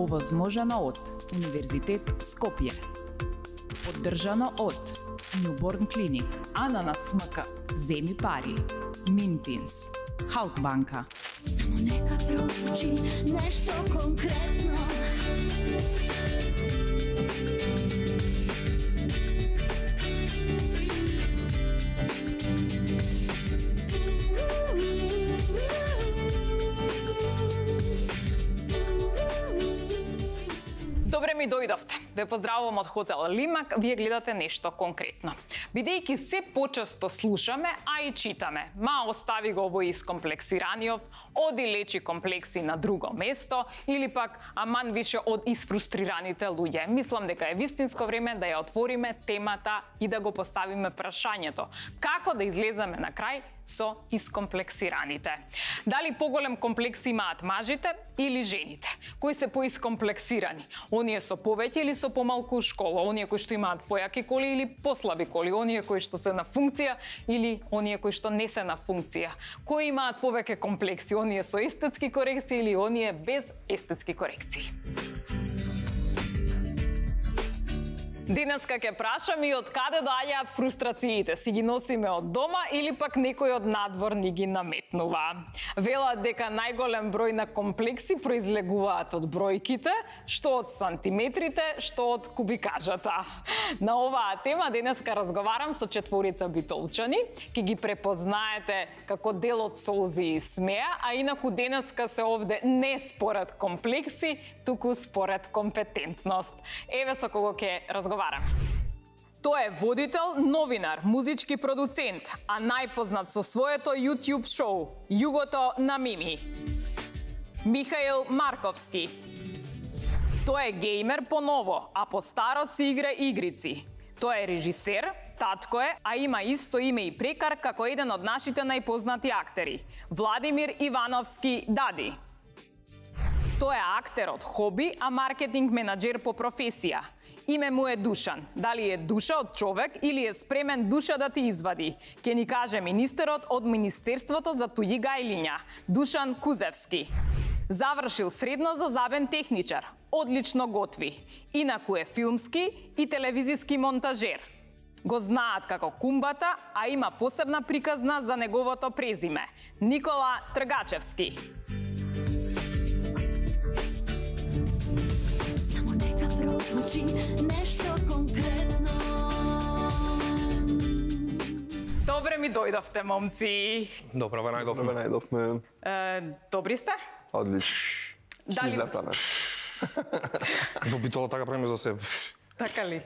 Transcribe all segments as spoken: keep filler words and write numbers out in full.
Овозможено од Универзитет Скопје. Поддржано од Newborn Clinic, Ананас МК, Земи пари, Мintins, Халкбанка. Само нека прозвучи нешто конкретно. Добре ми дојдовте. Ве поздравувам од хотел Лимак, вие гледате нешто конкретно. Бидејќи се почесто слушаме, а и читаме, ма остави го овој искомплексираниот, оди лечи комплекси на друго место, или пак аман више од исфрустрираните луѓе. Мислам дека е вистинско време да ја отвориме темата и да го поставиме прашањето. Како да излеземе на крај со искомплексираните? Дали поголем комплекс имаат мажите или жените? Кои се поискомплексирани? Оние со повеќе или со помалку школа? Оние кои што имаат појаки коли или послаби коли? Оние кои што се на функција или оние кои што не се на функција? Кои имаат повеќе комплекси? Оние со естетски корекции или оние без естетски корекции? Денеска ќе прашам и од каде доаѓаат фрустрациите. Си ги носиме од дома или пак некој од надвор ни ги наметнува. Велат дека најголем број на комплекси произлегуваат од бројките, што од сантиметрите, што од кубикажата. На оваа тема денеска разговарам со четворица битолчани, ки ги препознаете како дел од солзи и смеа, а инаку денеска се овде не според комплекси, туку според компетентност. Еве со кого ќе разговарам. Тој е водител, новинар, музички продуцент, а најпознат со своето YouTube шоу Југото на Мими. Михаил Марковски. Тој е геймер по ново, а по старо си игра игрици. Тој е режисер, татко е, а има исто име и прекар како еден од нашите најпознати актери, Владимир Ивановски Дади. Тој е актер од хоби, а маркетинг менаџер по професија. Име му е Душан. Дали е душа од човек или е спремен душа да ти извади? Ке ни каже министерот од Министерството за туѓи гајлиња, Душан Кузевски. Завршил средно за забен техничар. Одлично готви. Инаку е филмски и телевизиски монтажер. Го знаат како Кумбата, а има посебна приказна за неговото презиме. Никола Тргачевски. Прозвучи нешто конкретно. Добре ми дојдовте, момци. Добро ве најдовме. Добре најдовме. Е, добри сте? Одлично. Дали... Излетаме. Во битола така правиме за себе. Така ли?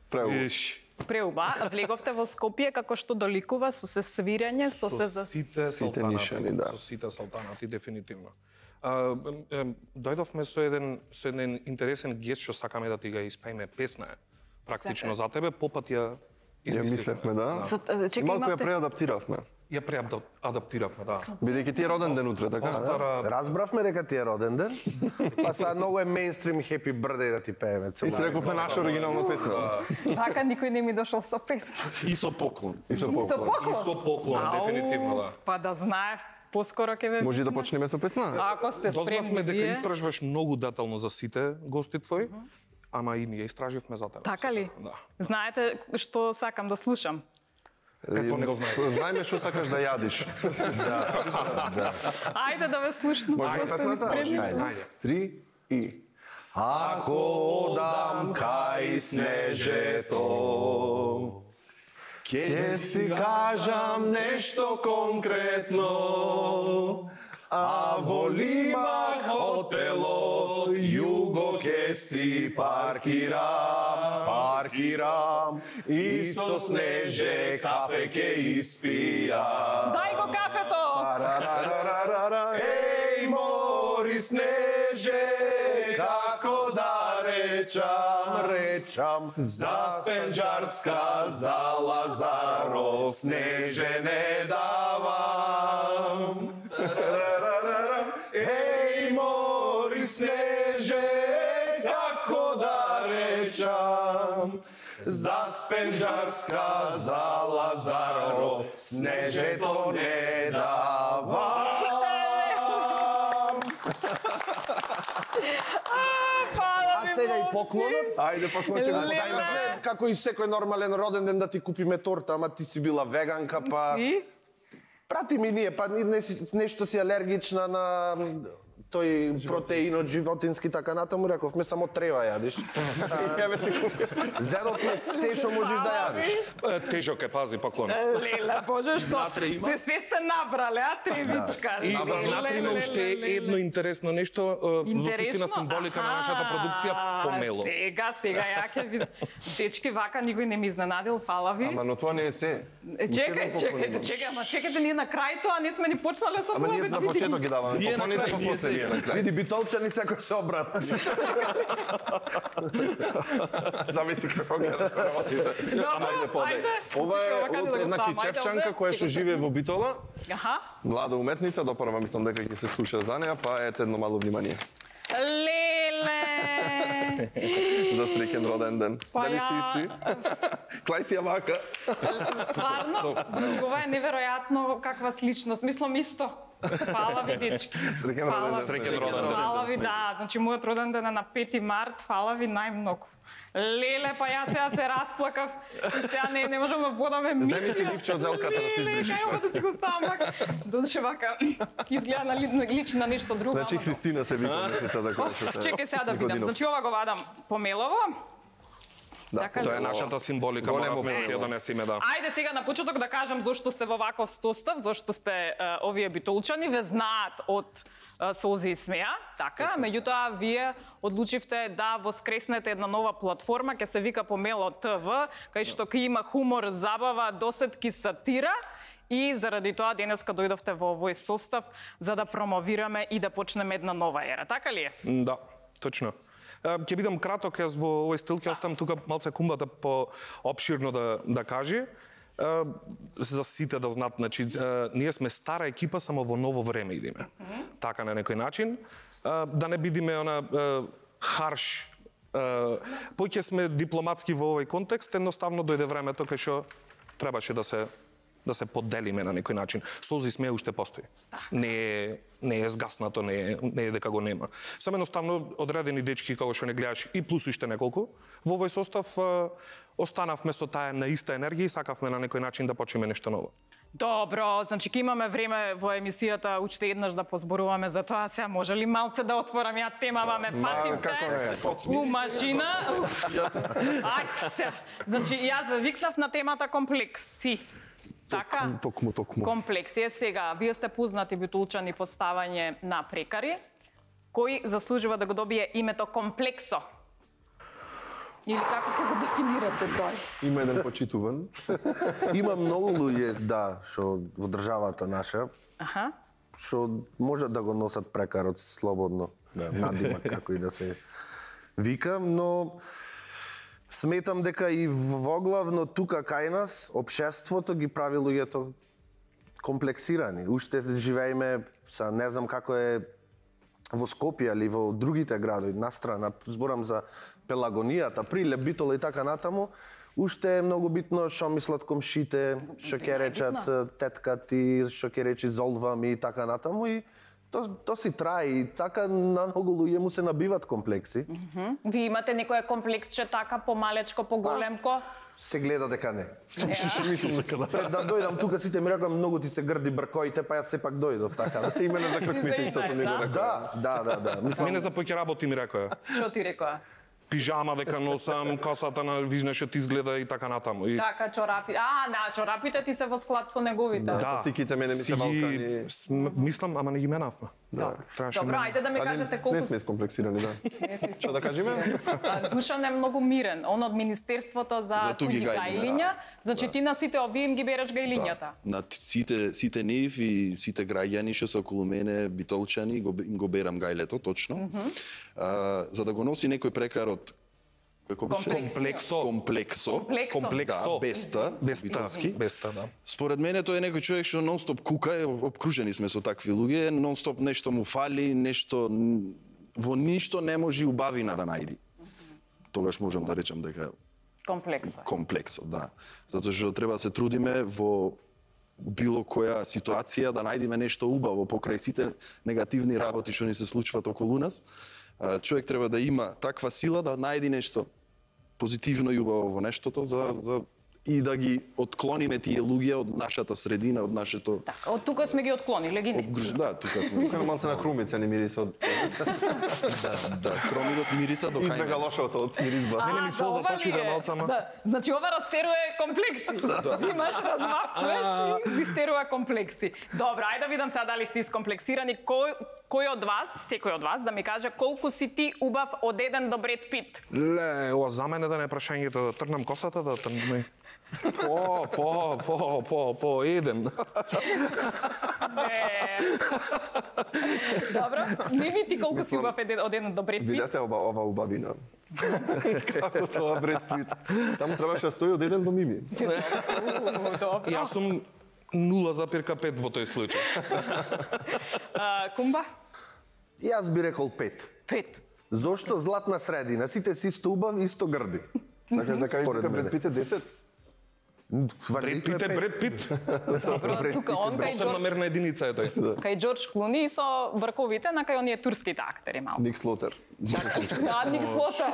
Преубаво. Преуба. Влеговте во Скопје како што доликува со се свирење, со, со се за... сите нишани, да. Со сите салтанати, дефинитивно. А, е, дојдовме со еден со еден интересен гест што сакаме да ти ga испееме песна. Практично за тебе попат ја Ја мислевме, да. Со, чекай, Малку ја имавте... преадаптиравме. Ја преадаптиравме, да. Бидејќи ти е роден ден утре, така? Остара... Разбравме дека ти е роден ден, па сега многу е мейнстрим Happy Birthday да ти пееме. И се рекувме наша оригинална песна. Така никој не ми дошол со песна. И со поклон. И со И со поклон. поклон? И со поклон, Ау, дефинитивно, да. Па да знаев, поскоро ќе ве... Може да почнеме со песна? Ако сте спремни Дознавме дека вие... истражуваш многу детално за сите гости твои, ама и ние истраживме за тебе. Така ли? Да. Знаете што сакам да слушам? Како не го знаете? Знаеме што сакаш да јадиш. Да, да. Ајде да ве слушнам. Може да песната? Ајде. Три и... Ако одам кај снежето, Ке си кажам нешто конкретно, а во Лима хотело југо ке си паркирам, паркирам и со снеже кафе ке испијам. Дај го кафето! Еј, мори снеже, како да речам, речам, за Спенџарска, за Лазаров, снеже не давам. Еј, мори снеже, како да речам, за Спенџарска, за Лазаров, снежето не давам. сега и поклонот. Ајде па кој ќе го Леле. Сајмавме како и секој нормален роден ден да ти купиме торта, ама ти си била веганка, па И? прати ми ние, па не, си- нешто си алергична на тој протеин од животински така натаму, рековме само трева јадиш. Еве ти купи. Зедовме се што можеш да јадиш. Е, Тежок е, пази, поклон. Леле, боже, што? Натре има? Сте све сте набрале, а тревичка. И Леле, внатре има леле, уште леле, едно интересно нешто, е, во суштина Интересно? символика на Аха, нашата продукција, помело. Сега, сега, ја ќе видам. Дечки, вака никој не ми изненадил, фала ви. Ама но тоа не е се. Е, Чекај, чекајте, чекај, ама чекајте ние на крајто, а не сме ни почнале со Ама ние пловет. на почеток ги даваме. Вие на Поклоните крај, па вие после вие на крај. Види, битолчани секој се обрат. Зависи како гледаш работите. Добро, Ајде подај. ајде. Ова Чекай, е вака од да го една ставам. Ајде, кичевчанка овде. која што живее во Битола. Аха. Млада уметница, допрва мислам дека ќе се слуша за неа, па ете едно мало внимание. Леле! За среќен роден ден. Па Дали сте ја- исти? Клај си ја вака. Стварно, значи ова е неверојатно каква сличност. Мислам исто. Фала ви, дечки. Среќен Фала роден ви. ден. Среќен роден ден. Фала ви, да. Значи, мојот роден ден е на пети март. Фала ви најмногу. Леле, па јас сега се расплакав. И сега не, не можам да водаме мисија. Земи си ливче од зелката да се избришиш. Леле, кај да си го ставам вака. Додеше вака, изгледа на ли- на- личи на нешто друго. Значи ама- Христина се вика месецата која што се. Чекај сега да видам. Никодинов. Значи, ова го вадам помелово. Да, така Тоа е ли? нашата символика, Големо моравме да помело. ја донесеме, да. Ајде сега на почеток да кажам зошто сте во ваков состав, зошто сте е, овие битолчани, ве знаат од е, Солзи и смеа, така, меѓутоа вие одлучивте да воскреснете една нова платформа, ќе се вика Помело ТВ, кај што ќе има хумор, забава, досетки, сатира. И заради тоа денеска дојдовте во овој состав за да промовираме и да почнеме една нова ера, така ли е? Да, точно. Е, Ќе бидам краток, јас во овој стил ќе оставам тука малце кумбата по обширно да да каже. Е, За сите да знаат, значи е, ние сме стара екипа, само во ново време идеме. Така на некој начин. Е, Да не бидиме она е, харш. е, Поќе сме дипломатски во овој контекст, едноставно дојде времето кај што требаше да се да се поделиме на некој начин. Солзи смеа уште постои. Не е не е згаснато, не е не е дека го нема. Само едноставно одредени дечки како што не гледаш и плюс уште неколку во овој состав е, останавме со таа на иста енергија и сакавме на некој начин да почнеме нешто ново. Добро, значи ќе имаме време во емисијата уште еднаш да позборуваме за тоа. Сега може ли малце да отворам ја темава, ме како фативте не? у машина. Ајде сега. Значи јас завикнав на темата комплекси. Така? Токму, токму. Комплекси е сега. Вие сте познати битулчани по ставање на прекари. Кој заслужува да го добие името комплексо? Или како ќе го дефинирате тој? Има еден почитуван. Има многу луѓе, да, што во државата наша, Аха. што можат да го носат прекарот слободно, да, надимак како и да се вика, но сметам дека и воглавно тука кај нас општеството ги прави луѓето комплексирани. Уште живееме, са не знам како е во Скопје или во другите градови, настрана, зборам за Пелагонијата, Прилеп, Битола и така натаму, уште е многу битно што мислат комшите, што ќе речат тетка ти, што ќе речи золва ми и така натаму и то, то си трае и така на многу луѓе му се набиват комплекси. Ви имате некој комплексче така помалечко, поголемко? Се гледа дека не. Мислам дека да. Пред да дојдам тука сите ми рекоа многу ти се грди бркоите, па јас сепак дојдов така. Имено за кркмите истото ни го Да. рекоа. Да, да, да, да. Мислам, Мене за поќе работи ми рекоа. Што ти рекоа? Пижама дека носам, косата на визнешот изгледа и така натаму. И Така, чорапи. А, да, чорапите ти се во склад со неговите. да, Тиките мене ми се си ги- валкани. см- Мислам, ама не ги менавме. Да. Требаше Добро, мене. ајде да ми кажете колку Не сме скомплексирани, да. Што да кажеме? А, Душан е многу мирен. Он од Министерството за, За туги туги гајлиња, гајлиња. Значи ти на сите овие им ги береш гајлињата. На т- сите сите нив и сите граѓани што се околу мене, битолчани, го, им го берам гајлето, точно. А, за да го носи некој прекарот како беше? Комплексо. Комплексо. Комплексо. Комплексо. Да, беста, Беста, битолски. беста, да. Според мене тој е некој човек што нонстоп кука, е, обкружени сме со такви луѓе, нонстоп нешто му фали, нешто н- во ништо не може убавина да најди. Тогаш можам да речам дека Комплексо. комплексот, да. Затоа што треба да се трудиме во било која ситуација да најдеме нешто убаво покрај сите негативни работи што ни се случваат околу нас. А, човек треба да има таква сила да најди нешто позитивно и убаво во нештото за за и да ги отклониме тие луѓе од нашата средина, од нашето... Така, од тука сме ги отклониле, ги не. Обгруж... Да, тука сме. Тука малце на крумица не мириса од... Да, кромидот мириса до кај. Избега лошото од миризба. Не, не, ми за солза ова почи да ли е? малце, ама. Да, значи ова растерува комплекси. Зимаш, размафтуваш и ги стерува комплекси. Добро, ајде да видам сега дали сте искомплексирани. Кој кој од вас, секој од вас да ми каже колку си ти убав од еден до Бред Пит? Ле, ова за мене да не прашањето, да трнам косата, да трнам... По, по, по, по, по, едем. Не. Добро, Мими, ти колку си убав од еден до Бред Пит? Видете ова, ова убавина. Како тоа Бред Пит? Таму требаше да стои од еден до Мими. Добро. Јас сум нула запирка пет во тој случај. А, Кумба? Јас би рекол пет. Пет. Зошто златна средина? Сите си исто убав, исто грди. Сакаш да кажеш дека Бред Пит е десет? Бред Пит е Бред Пит. Добро, тука он кај Посебна Джордж, мерна единица е тој. кај Джордж Клуни со брковите на кај оние турските актери малку. Ник Слотер. Да, Ник Слотер.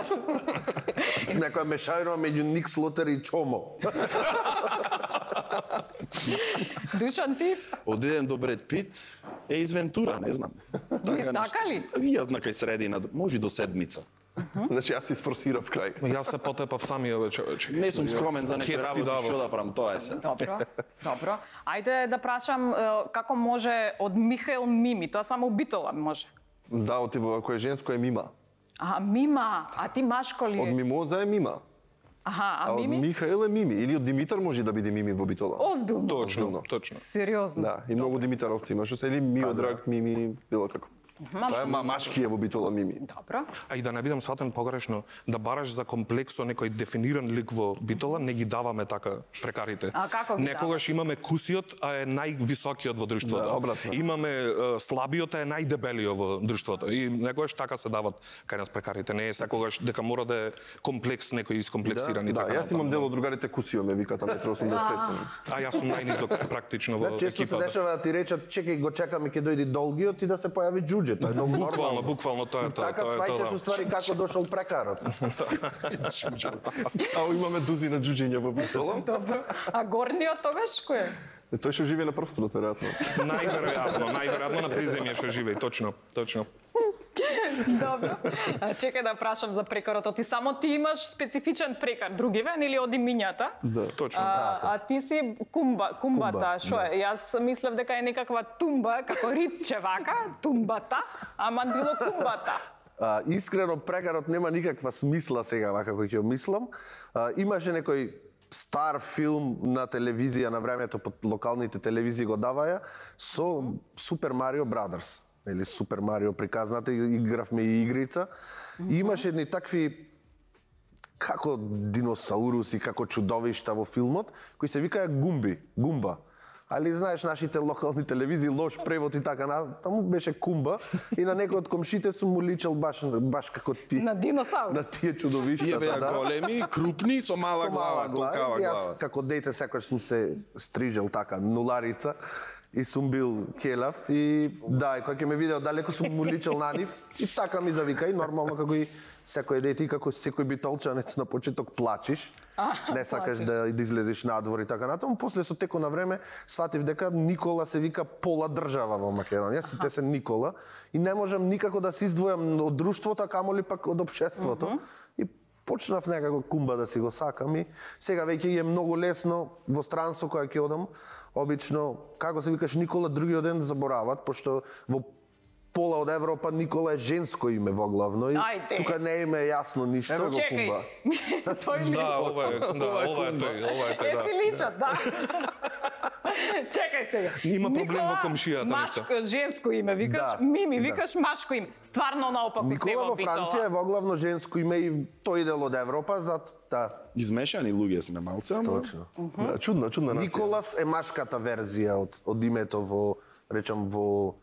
Некоја мешајна меѓу Ник Слотер и Чомо. Душан ти? Од еден до Бред Пит е извентура, не знам. Така нешто. ли? Јас на кај средина, може до седмица. Значи јас испорсирав крај. Јас се потепав самија човече. Не сум скромен за некој Кет си работа, давав. што да правам, тоа е се. Добро, добро. Ајде да прашам е, како може од Михаел Мими, тоа само Битола може. Да, отиво, ако е женско е Мима. А, Мима, а ти машко ли Од е? Мимоза е Мима. Аха, А а од Мими? Михаел е Мими. Или од Димитар може да биде Мими во Битола. Озбилно. Точно, точно. Сериозно. Да, и многу Димитаровци имаше се, или Миодраг, Мими, било како. Тоа е ма- машки е во Битола Мими. Добро. А и да не бидам сватен погрешно, да бараш за комплексо некој дефиниран лик во Битола, не ги даваме така прекарите. А како ги Некогаш имаме кусиот, а е највисокиот во друштвото. Да, обратно. Имаме е, слабиот, а е најдебелиот во друштвото. И некогаш така се дават кај нас прекарите. Не е секогаш дека мора да е комплекс некој искомплексиран и Да, така. јас имам дел од другарите Кусио, ме викат метро осумдесет пет сум. А јас сум најнизок практично во Да, често се екипата. дешава да ти речат, чекај, го чекаме ќе дојде долгиот и да се појави џуџе. Тоа е многу Буквално, нормално. буквално тоа е тоа. Така тоа е сваќаш тоа. уствари како дошол прекарот. А имаме дузина џуџиња во Битола. Добро. А горниот тогаш кој е? Е, Тој што живее на првството, веројатно. Најверојатно, најверојатно на приземје што живее, точно, точно. Добро. А, чекај да прашам за прекарот. Ти само ти имаш специфичен прекар, другиве или оди мињата? Да. Точно. А, а ти си кумба, кумбата, Кумба, што е? Јас мислев дека е некаква тумба, како ритче вака, тумбата, ама било кумбата. А, искрено прекарот нема никаква смисла сега вака кој ќе го мислам. А, имаше некој стар филм на телевизија на времето под локалните телевизии го даваја со Супер Марио Брадерс. Или Супер Марио приказната, игравме и игрица. И имаше едни такви како диносауруси, како чудовишта во филмот, кои се викаја гумби, гумба. Али знаеш нашите локални телевизии лош превод и така на таму беше кумба и на некој од комшите сум му личел баш баш како ти. На диносаурус. На тие чудовишта. Тие беа големи, крупни, со мала Со глава, мала глава. толкава И Јас глава. како дете секогаш сум се стрижел така нуларица и сум бил келав и да, и кога ќе ме видео далеко сум му личел на нив и така ми завика и нормално како и секој дете и како секој битолчанец на почеток плачиш. Не сакаш плачеш. да, да излезеш надвор и така натаму. После со теко на време сватив дека Никола се вика пола држава во Македонија, сите се Никола и не можам никако да се издвојам од друштвото, а камоли пак од општеството. И почнав некако кумба да си го сакам и сега веќе е многу лесно во странство кога ќе одам, обично како се викаш Никола другиот ден заборават, пошто во пола од Европа Никола е женско име во главно и Ајде. тука не им е јасно ништо. Еме го Чекај. кумба. Тој ли? Да, ова е, да, Ова е ова е кумба. тој, ова е тој, Е, да. си личат, да. Чекај сега. Има проблем Никола, во комшијата, машко, женско име викаш, Да, Мими да. викаш машко име. Стварно наопаку се Никола во Франција е во главно женско име и тој дел од Европа, зат да, Измешани луѓе сме малце, ама точно. Да, чудна, чудна нација. Николас е машката верзија од од името во речам во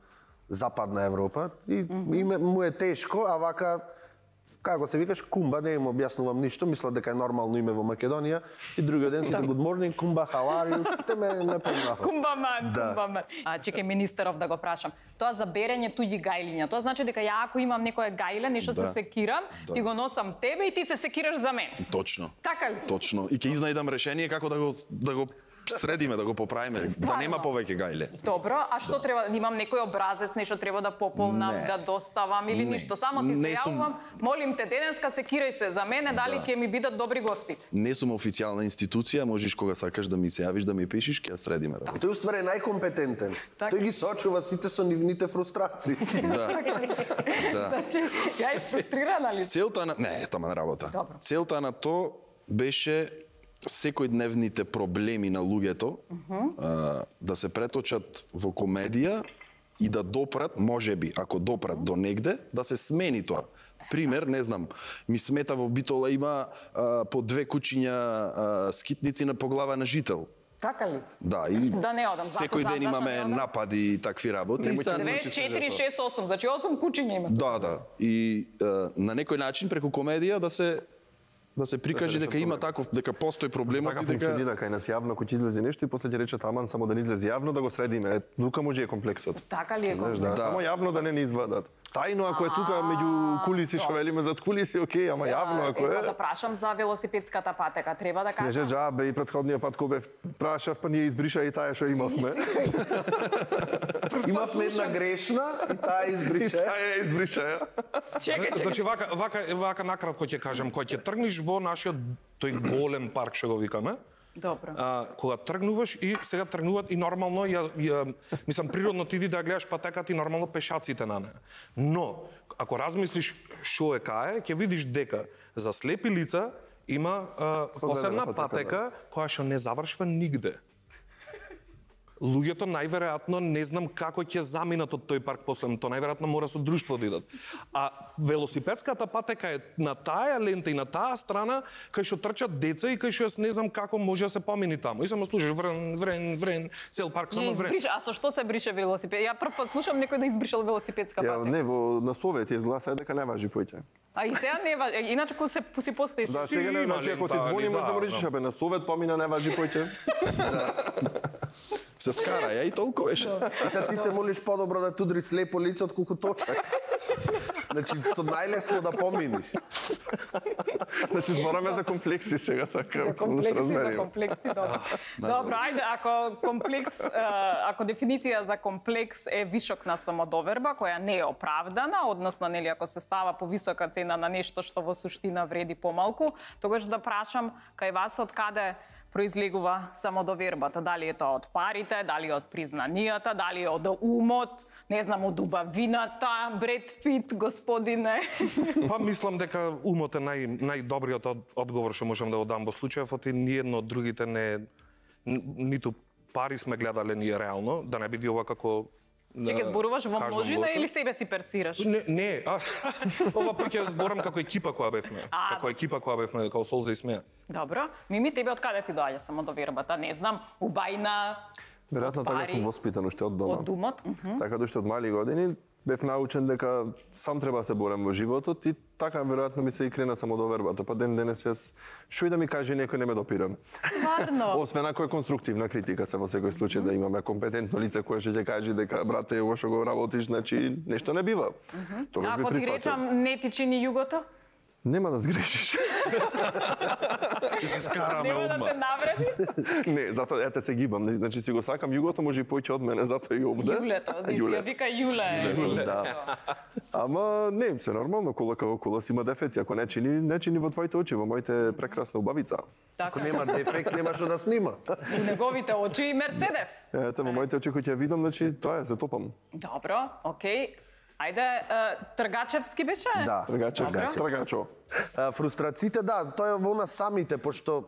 Западна Европа и име му е тешко, а вака Како се викаш Кумба, не им објаснувам ништо, мисла дека е нормално име во Македонија и другиот ден сите good morning Кумба, how are you? Сите ме не познаха. Кумбаман, Да. кумбаман. А чекај министеров да го прашам. Тоа за берење туѓи гајлиња. Тоа значи дека ја ако имам некое гајле, нешто Да. се секирам, ти го носам тебе и ти се секираш за мене. Точно. Така ли? Точно. И ќе изнајдам решение како да го да го средиме, да го поправиме, да Стварно? нема повеќе гајле. Добро, а што треба? Имам некој образец, нешто треба да пополнам, Не. да доставам или Не. ништо? Само ти се Не сум- јавувам, молим те денеска секирај се за мене, дали Да. ќе ми бидат добри гости. Не сум официјална институција, можеш кога сакаш да ми се јавиш да ми пишеш, ќе ја средиме работа. Тој уствари е најкомпетентен. Така. Тој ги сочува сите со нивните фрустрации. Да. Да. Значи, ја испрустрирана ли? Целта на не, тама на работа. Добро. Целта на то беше секојдневните проблеми на луѓето а, да се преточат во комедија и да допрат, можеби, ако допрат до негде, да се смени тоа. Пример, не знам, ми смета во Битола има а, по две кучиња а, скитници на по глава на жител. Така ли? Да, и Да не одам, затоа секој знам, ден зашто имаме не одам? напади и такви работи. И са- две, четири, шест, осум, значи осум кучиња има. Да, да. И е, на некој начин преку комедија да се да се прикаже дека има таков, дека постои проблемот Така и дека функционира кај нас јавно кој ќе излезе нешто и после ќе речат аман само да не излезе јавно да го средиме. Е, тука може е комплексот. Така ли е? Знаеш, да, Да. само јавно да не ни извадат. Тајно ако е тука меѓу кулиси што велиме зад кулиси, окей, ама јавно ако Ево е. да прашам за велосипедската патека, треба да Снеже кажам. џабе и претходниот пат кога бев прашав, па ние избриша и таа што имавме. Имавме една грешна и таа И избрише. таа ја избриша, ја. Чекај, чекај. Значи вака вака вака накратко ќе кажам, кога ќе тргнеш во нашиот тој голем парк што го викаме, Добро. а, кога тргнуваш и сега тргнуваат и нормално ја, ја мислам природно ти иди да ја гледаш патеката и нормално пешаците на неа. Но ако размислиш што е кај, ќе видиш дека за слепи лица има а, посебна патека, патека која што не завршва нигде. Луѓето најверојатно не знам како ќе заминат од тој парк после тоа, најверојатно мора со друштво да идат. А велосипедската патека е на таа лента и на таа страна кај што трчат деца и кај што јас не знам како може да се помини таму. И само слушаш врен, врен, врен, цел парк Не само врен. избриша, а со што се брише велосипед? Ја прв пат слушам некој да избришал велосипедска Ја, патека. не, во на Совет изгласа дека не важи поќе. А и сега не ва, иначе кога се си постои. Да, Си сега не, има значи ако ти лента, звони али можеш да да, му речеш, да. абе на Совет помина не важи поќе. се скара, ја и толку беше. И сега ти се молиш подобро да tudri слепо лице отколку точак. Значи, со најлесно да поминиш. Значи збораме за комплекси сега, така, За само да се комплекси, за разбереме. комплекси, добро. Добро, ајде, ако комплекс, е, ако дефиниција за комплекс е вишок на самодоверба, која не е оправдана, односно, нели, ако се става повисока цена на нешто што во суштина вреди помалку, тогаш да прашам кај вас од каде произлегува самодовербата, дали е тоа од парите, дали од признанијата, дали од умот, не знам, од убавината, Бред Пит, господине. Па мислам дека умот е нај најдобриот од, одговор што можам да го дам во случајов, оти ниедно од другите не н- ниту пари сме гледале ние реално, да не биде ова како Чекай, зборуваш во кажам множина лошо. или себе си персираш? Не, не, а, ова пак ќе зборам како екипа која бевме. А, како екипа која бевме, како Солза и Смеја. Добро. Мими, тебе од каде ти доаѓа самодовербата? Не знам, убајна, Веројатно така пари, сум воспитан уште од дома. од думот? Мгм. Така да уште од мали години бев научен дека сам треба да се борам во животот и така веројатно ми се и крена самодовербата. Па ден денес јас што и да ми каже некој не ме допирам. Стварно. Освен ако е конструктивна критика, се во секој случај да имаме компетентно лице кое ќе ќе каже дека брате ово што го работиш, значи нешто не бива. Тогаш би Ако ти прифатил. речам не ти чини југото, Нема да сгрешиш. Ќе се скараме нема да одма. те навреди. Не, затоа ете се гибам. Значи си го сакам југото, може и поќе од мене, затоа и овде. Јулето, да си ја вика Јуле. Јуле, да. Ама не, се нормално, кола како кола си има дефеци, ако не чини, не чини во твоите очи, во моите прекрасна убавица. Ако Така. нема дефект, нема што да снима. У неговите очи и Мерцедес. Ете, во моите очи кои ќе ја видам, значи тоа е, се топам. Добро, окей. Ајде, е, Тргачевски беше? Да. Тргачев, Добро. тргачо. А, фрустрациите, да, тоа е во нас самите, пошто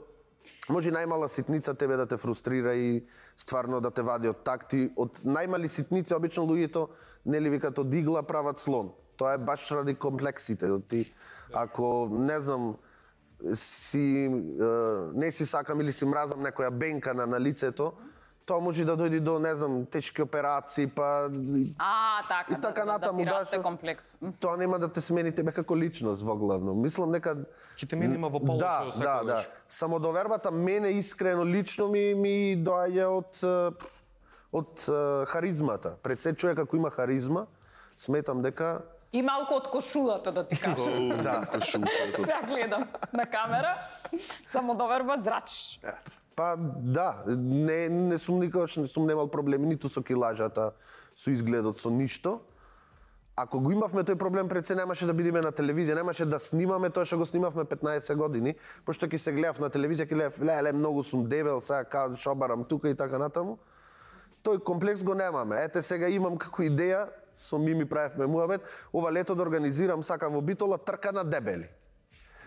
може најмала ситница тебе да те фрустрира и стварно да те вади од такти. Од најмали ситници обично луѓето нели викаат од игла прават слон. Тоа е баш ради комплексите. Ти ако не знам си е, не си сакам или си мразам некоја бенка на, на лицето, тоа може да дојде до, не знам, тешки операции, па А, така, и така да, натаму, да, да, да, што- комплекс. М. тоа нема да те смени тебе како личност во главно. Мислам дека Ќе те менима во полошо да, да, секогаш. да. Самодовербата мене искрено лично ми ми доаѓа од е, од е, харизмата. Пред се човек ако има харизма, сметам дека И малку од кошулата, да ти кажам. да, Кошулчето. Да, гледам на камера, самодоверба зрачиш. па да, не не сум никогаш не сум немал проблеми ниту со килажата, со изгледот, со ништо. Ако го имавме тој проблем, пред се немаше да бидеме на телевизија, немаше да снимаме тоа што го снимавме петнаесет години, пошто ќе се гледав на телевизија, ќе гледав, леле, многу сум дебел, сега као шобарам тука и така натаму. Тој комплекс го немаме. Ете сега имам како идеја, со Мими правевме муабет, ова лето да организирам, сакам во Битола, трка на дебели.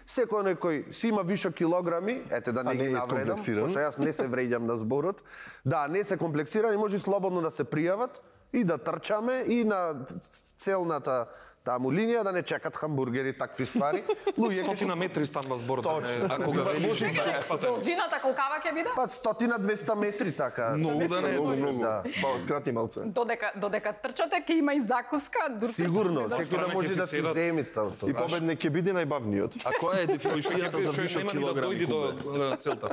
Секој некој си има вишо килограми, ете да не А ги не е навредам, искомплексиран? пошто јас не се вреѓам на зборот. Да, не се комплексирани, може слободно да се пријават и да трчаме и на целната таму линија да не чекат хамбургери, такви ствари. Луѓе ќе Стотина метри станува зборот. Точно. А кога велиш Должината колкава ќе биде? па стотина двеста метри така. Многу да не е. Многу, многу. Да. Па, скрати малце. Додека додека трчате ќе има и закуска, дур- Сигурно, Да. секој да Страна може ќе да си си седат. земи тоа. И победник ќе биде најбавниот. А која е дефиницијата за вишок нема ни да килограми? дојди до Кубе? е, целта.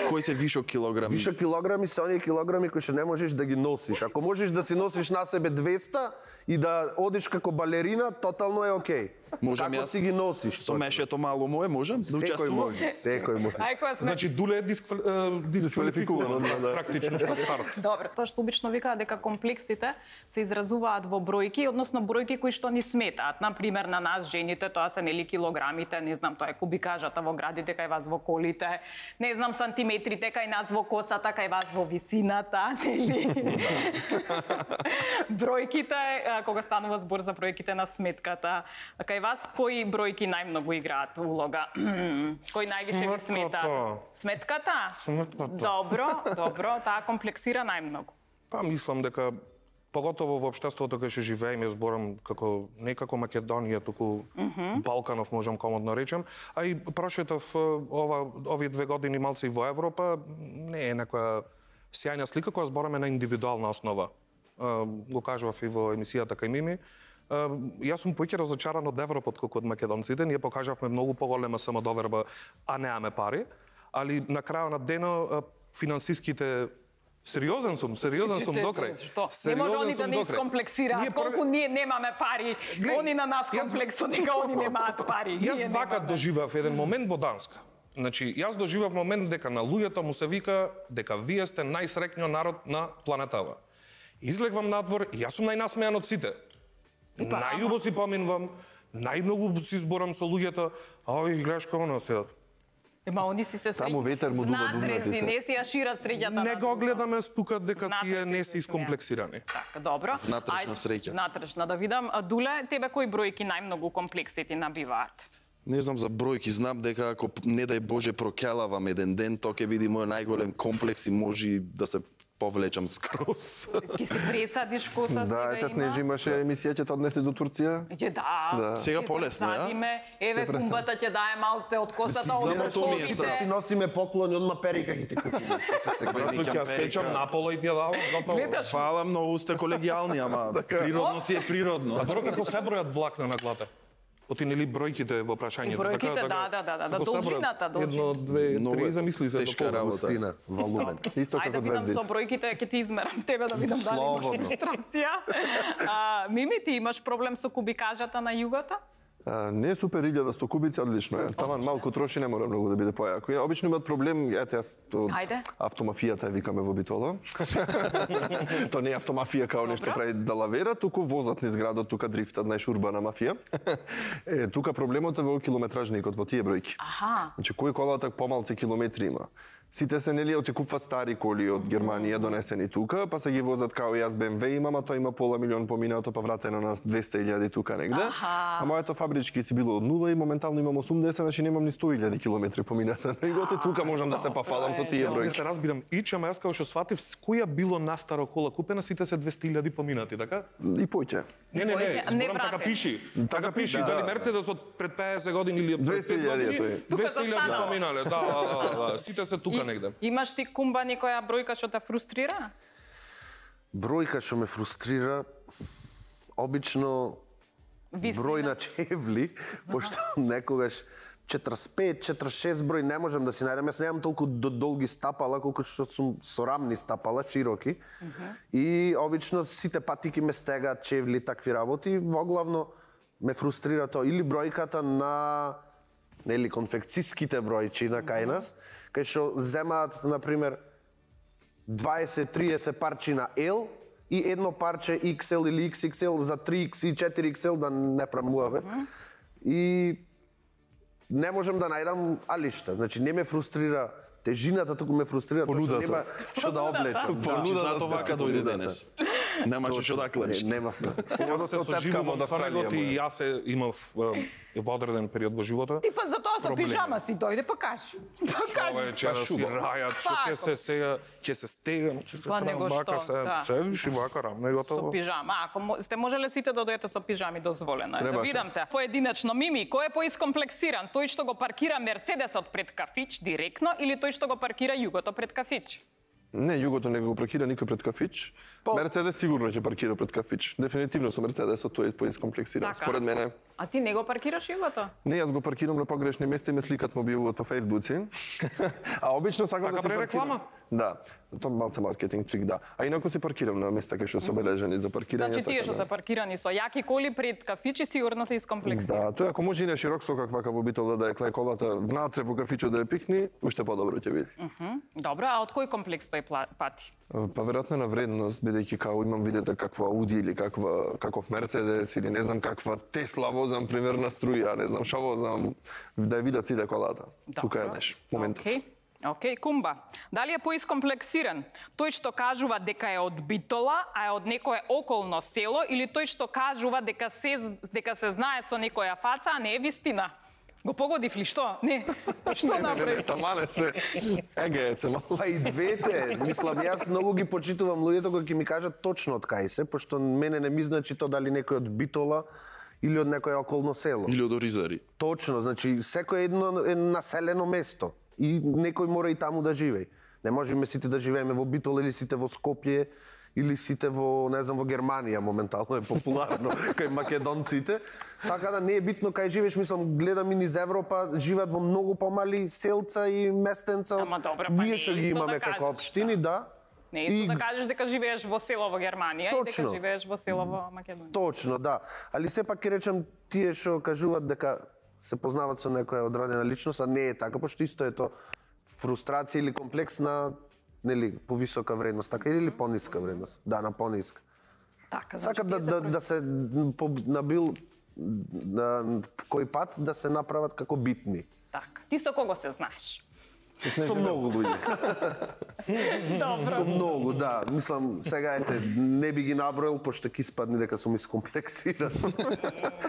Кои се вишок килограми? Више килограми се оние килограми кои што не можеш да ги носиш. Ако можеш да си носиш на себе двеста и да одиш како балерина, тотално е окей. Можам Како јас си ги носиш? Со мешето мало мое можам да Секој учествувам? може, секој може. Ај која сме. Значи Дуле е дисквали... е, дисквалификувано да. практично на старт. Добро, тоа што обично викаат дека комплексите се изразуваат во бројки, односно бројки кои што ни сметаат. Например, на нас жените тоа се нели килограмите, не знам, тоа е кубикажата во градите кај вас во колите, не знам сантиметрите кај нас во косата, кај вас во висината, нели? Бројките, а, кога станува збор за бројките на сметката, кај вас кои бројки најмногу играат улога? Кој највише ви смета? Сметката. Сметката? Сметката. Добро, добро, таа комплексира најмногу. Па мислам дека поготово во општеството кај што живееме, зборам како не како Македонија, туку Балканов можам комодно речем, а и прошетов е, ова овие две години малце и во Европа, не е некоја сјајна слика која збораме на индивидуална основа. Е, Го кажував и во емисијата кај Мими. Е, Јас сум поќе разочаран од Европа отколку од македонците. Ние покажавме многу поголема самодоверба, а неаме пари, али на крајот на денот е, финансиските Сериозен сум, сериозен сум Чите, докрај. Што? Не Сериозен може они сум да не докрај. искомплексираат Ние колку прв- ние немаме пари. Глеј, Они на нас јас- комплексо дека они немаат пари. Јас Ние вака немаме. доживав еден момент во Данска. Значи, јас доживав момент дека на луѓето му се вика дека вие сте најсреќниот народ на планетава. Излегвам надвор и јас сум најнасмејан од сите. Ипа, Најубаво си поминувам, најмногу си зборам со луѓето, а овие ги гледаш како на седат. Ема они си се Само ветер му дува надреси, думната се. не си ја шират среќата. Не на го друго. гледаме тука дека тие Натрешни не се се искомплексирани. Така, добро. Внатрешна Ајде, среќа. Внатрешна, да видам. А, Дуле, тебе кои бројки најмногу комплекси ти набиваат? Не знам за бројки, знам дека ако не дај Боже прокелавам еден ден, тоа ќе биде мој најголем комплекс и може и да се повлечам скроз. Ки си пресадиш коса Да, ете Снежи имаше емисија ќе те однесе до Турција. Ќе да. Да. Сега Ќе полесно, ја? пресадиме, еве кумбата ќе дае малце од косата, За од мотор ми е ковите. страх. Си носиме поклони, одма перика ги ти купиме. Што се сега? Тука ја сечам наполо и ти ја давам наполо. Гледаш? Фала, многу сте колегијални, ама природно си е природно. А дорога како се бројат влакна на глата? Оти нели бројките во прашањето? И бројките, да, да, да, да, Како се бројат? должината, Едно, две, Многу три, е замисли се тешка до полу. работа. Густина, волумен. Исто Ајде да како видам звездите. со бројките, ќе ти измерам тебе да видам дали имаш Слободно. илустрација. А, Мими, ти имаш проблем со кубикажата на југата? А, не е супер илјадесто кубици, одлично е. Таман малку троши, не мора многу да биде појако. И обично имаат проблем, ете јас од Ајде. автомафијата ја викаме во Битола. То не е автомафија као нешто Добро. прави да лавера, туку возат низ градот, тука дрифтат, знаеш, урбана мафија. Е, тука проблемот е во километражникот, во тие бројки. Аха. Значи, кој колата помалци километри има. Сите се нели оти купват стари коли од Германија донесени тука, па се ги возат као јас Б М В имам, а тој има пола милион поминато, па вратено на двесте илјади тука негде. Аха. А моето фабрички си било од нула и моментално имам осумдесет, значи немам ни сто илјади километри поминато. И готе тука можам да се пафалам со тие Јас не бројки. се разбирам, ич, ама јас како што сватив, с која било настара кола купена, сите се двесте илјади поминати, така? И поќе. Не, не, не, Појќе, не зборам така вратен. пиши. Така пиши, да, дали да. Мерцедес од пред педесет години или од пред двесте пет илјади е години, тој. двесте Тука илјади застанало. поминале, да, да, да, да, сите се тука тука негде. Имаш ти кумба некоја бројка што те фрустрира? Бројка што ме фрустрира, обично Висина. број на чевли, пошто некогаш четресет и пет четресет и шест број не можам да си најдам. Јас немам толку долги стапала колку што сум сорамни стапала, широки. Uh -huh. И обично сите патики ме стегаат чевли, такви работи. Воглавно ме фрустрира тоа или бројката на нели конфекцијските бројчи на кај нас, кај што земаат на пример дваесет триесет парчи на L и едно парче икс ел или икс икс ел за три икс и четири икс ел да не премнуваме. Uh -huh. И не можам да најдам алишта. Значи не ме фрустрира тежината, туку ме фрустрира тоа што нема што да облечам. Значи затоа вака дојде денес. Немаше што да клеш. Немавме. Јас се соживувам со него и јас се имав во одреден период во живота. Ти па за тоа со пижама си дојде, па кажи. Па кажи. Човече, да си рајат, што ќе се сега, ќе се стегам, ќе се Па него бака што, се, да. седиш и бака рамна и Со готово. пижама. Ако мо- сте можеле сите да дојдете со пижами, дозволено е. Да Требаше. видам се. Поединечно Мими, кој е поискомплексиран? Тој што го паркира Мерцедесот пред кафич директно или тој што го паркира Југото пред кафич? Не, Југото не го паркира никој пред кафич. По- Мерцедес сигурно ќе паркира пред кафич. Дефинитивно со Мерцедесот тој е поискомплексиран. Така. Според мене. А ти не го паркираш Југото? Не, јас го паркирам на погрешни места и ме сликат мобилот по Фејсбуци. А обично сакам Така да се пре паркирам. реклама? Да, тоа малце маркетинг трик, да. А инаку се паркирам на места кај што се обележани за паркирање. Значи тие така што да. се паркирани со јаки коли пред кафичи сигурно се искомплексирани. Да, тој ако може и на широк сокак вака во битол да ја кле колата внатре во кафичот да ја пикни, уште подобро ќе биде. Добро, а од кој комплекс тој пла- пати? Па веројатно на вредност, бидејќи као имам видете каква Ауди или каква каков Мерцедес или не знам каква Тесла возам примерна струја, не знам што возам, да ја видат сите колата. Тука е неш моментот. Океј. Океј, Кумба. Дали е поискомплексиран тој што кажува дека е од Битола, а е од некое околно село, или тој што кажува дека се дека се знае со некоја фаца, а не е вистина? Го погодив ли што? Не. Што направи? Тамане се. Еге е се малку. Па и двете, мислам, јас многу ги почитувам луѓето кои ќе ми кажат точно од кај се, пошто мене не ми значи тоа дали некој од Битола или од некој околно село. Или од Оризари. Точно, значи секој едно е населено место и некој мора и таму да живее. Не можеме сите да живееме во Битола или сите во Скопје или сите во, не знам, во Германија моментално е популарно кај македонците. Така да не е битно кај живееш, мислам, гледам и низ Европа, живеат во многу помали селца и местенца. Ама добро, па Ние не е што ги исто имаме да како кажеш, општини, да. Не е исто да кажеш дека живееш во село во Германија и дека Точно. живееш во село во Македонија. Точно, да. Али сепак ќе речем тие што кажуваат дека се познаваат со некоја одредена личност, а не е така, пошто исто е тоа фрустрација или комплекс на нели повисока вредност, така или пониска вредност. Да, на пониска. Така, Сакат да, тие се да, про- да се по, на бил на кој пат да се направат како битни. Така. Ти со кого се знаеш? Со многу луѓе. Добро. Со многу, да. Мислам, сега ете, не би ги наброил, пошто ќе испадне дека сум искомплексиран.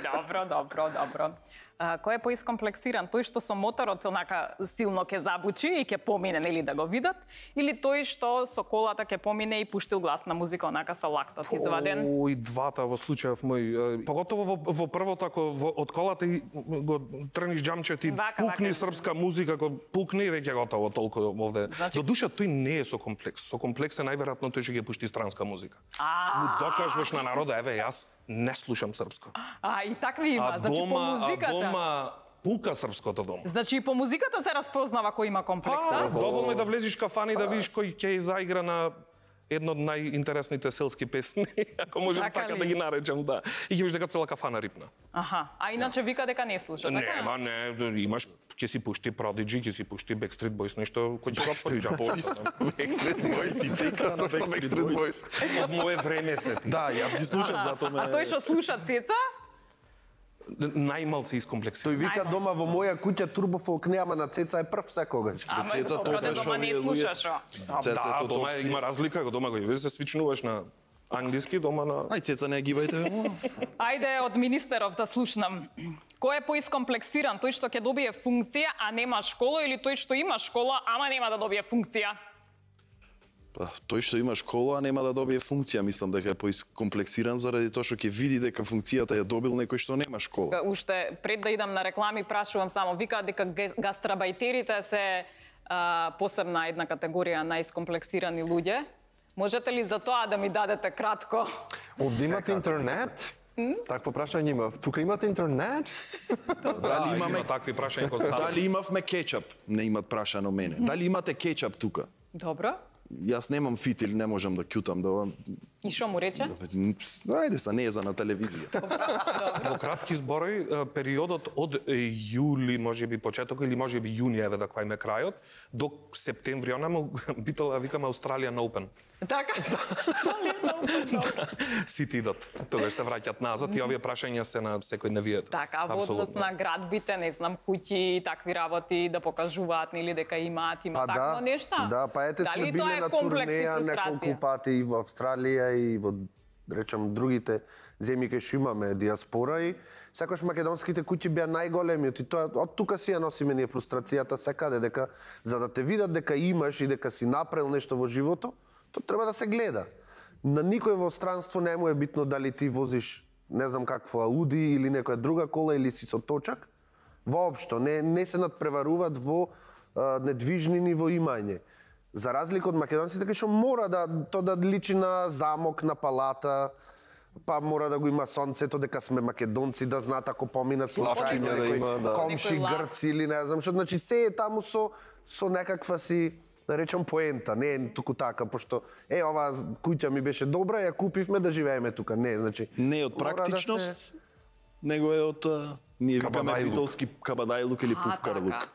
Добро, добро, добро. А, кој е поискомплексиран? Тој што со моторот онака силно ќе забучи и ќе помине, нели да го видат, или тој што со колата ќе помине и пуштил гласна музика онака со лактот изваден? О, и двата во случајов мој. Е, Поготово во, во првото, ако во, од колата и го трниш џамчето и Вака, пукни вака. српска музика, ако пукне веќе готово толку овде. Значи- До душа тој не е со комплекс. Со комплекс е најверојатно тој ќе ги пушти странска музика. А, Му докажуваш на народа, еве јас не слушам српско. а и такви има, А значи по дома, а музиката. дома пука српското дома. Значи и по музиката се распознава кој има комплекс, А, а? доволно е да влезеш кафана и да видиш кој ќе заигра на едно од најинтересните селски песни, ако можем Така така ли? да ги наречам, да. И ќе видиш дека цела кафана рипна. Аха, а иначе вика дека не слуша, така? Нема, не, имаш, ќе си пушти Prodigy, ќе си пушти Backstreet Boys, нешто кој ќе го пориџа. Backstreet Boys и тека со Backstreet Boys. Од мое време се ти. Да, јас ги слушам, затоа ме... А тој што слуша Цеца? Најмал се Тој искомплексиран. вика Ајде. дома во моја куќа турбофолк нема, на Цеца е прв секогаш. Ама Цеца добро, тоа да дома не овие луѓе- слушаш, о. Да, Цецето дома топси. има разлика, го дома го ја се свичнуваш на англиски, дома на... Ај, Цеца, не ја гивајте. Ајде од министеров да слушнам. Кој е поискомплексиран? Тој што ќе добие функција, а нема школа, или тој што има школа, ама нема да добие функција? Па, тој што има школа, нема да добие функција, мислам дека е поискомплексиран заради тоа што ќе види дека функцијата ја добил некој што нема школа. Уште пред да идам на реклами, прашувам само, викаат дека ге- гастрабајтерите се а, посебна една категорија на искомплексирани луѓе. Можете ли за тоа да ми дадете кратко? Овде имате интернет? Такво прашање имав. Тука имате интернет? Дали имаме такви прашања кои Дали имавме кетчап? Не имат прашано мене. Дали имате кетчап тука? Добро. Јас немам фитил, не можам да кјутам да... И шо му рече? Ајде са, не е за на телевизија. Во кратки зборови, периодот од јули, можеби почеток или можеби јуни, еве да кајме крајот, до септември, она битола викаме Australian Open. Така? Australian Open. Сите идат. Тогаш се враќаат назад и овие прашања се на секојдневието. Така, во однос на градбите, не знам, куќи, такви работи да покажуваат или дека имаат, има Па такво да, нешта. да, па ете сме биле на турнеја неколку пати и во Австралија и во речам другите земји кај што имаме диаспора и секогаш македонските куќи беа најголемиот и тоа од тука си ја носиме ние фрустрацијата секаде дека за да те видат дека имаш и дека си направил нешто во живото, тоа треба да се гледа. На никој во странство не му е битно дали ти возиш не знам какво Ауди или некоја друга кола или си со точак. Воопшто не не се надпреваруваат во а, недвижнини во имање. За разлика од македонците, кај што мора да то да личи на замок, на палата, па мора да го има сонцето дека сме македонци, да знаат ако поминат случајно да има, да. комши грци или не знам што, значи се е таму со со некаква си да речам поента, не е туку така, пошто е ова куќа ми беше добра, ја купивме да живееме тука, не, значи Не е од практичност, да се... него е од а, ние викаме битолски кабадајлук или пувкарлук.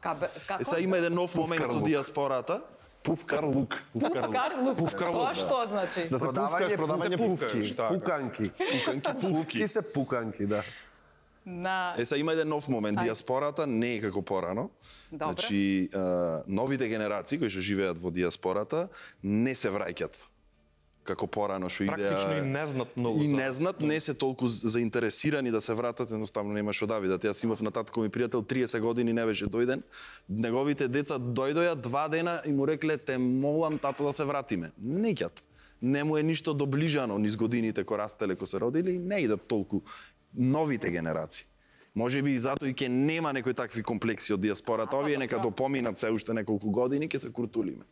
Е сега има еден нов момент со диаспората. Пувкарлук. Пувкарлук. Тоа што значи? Да се пувкаш, продавање пувки. Пуканки. Пуканки, Пувки се пуканки, да. На... Е, сега има еден нов момент. Диаспората не е како порано. Добре. Значи, а, новите генерации кои што живеат во диаспората не се враќат како порано што идеа... Практично и не знаат многу. И за- не знаат, не се толку заинтересирани да се вратат, едноставно нема што да видат. Јас имав на татко ми пријател триесет години не беше дојден. Неговите деца дојдоја два дена и му рекле те молам тато да се вратиме. Неќат. Не му е ништо доближано низ годините кои растеле, кои се родили, не идат толку новите генерации. Може би и затоа и ќе нема некои такви комплекси од диаспората. Овие нека допоминат се уште неколку години, ќе се куртулиме.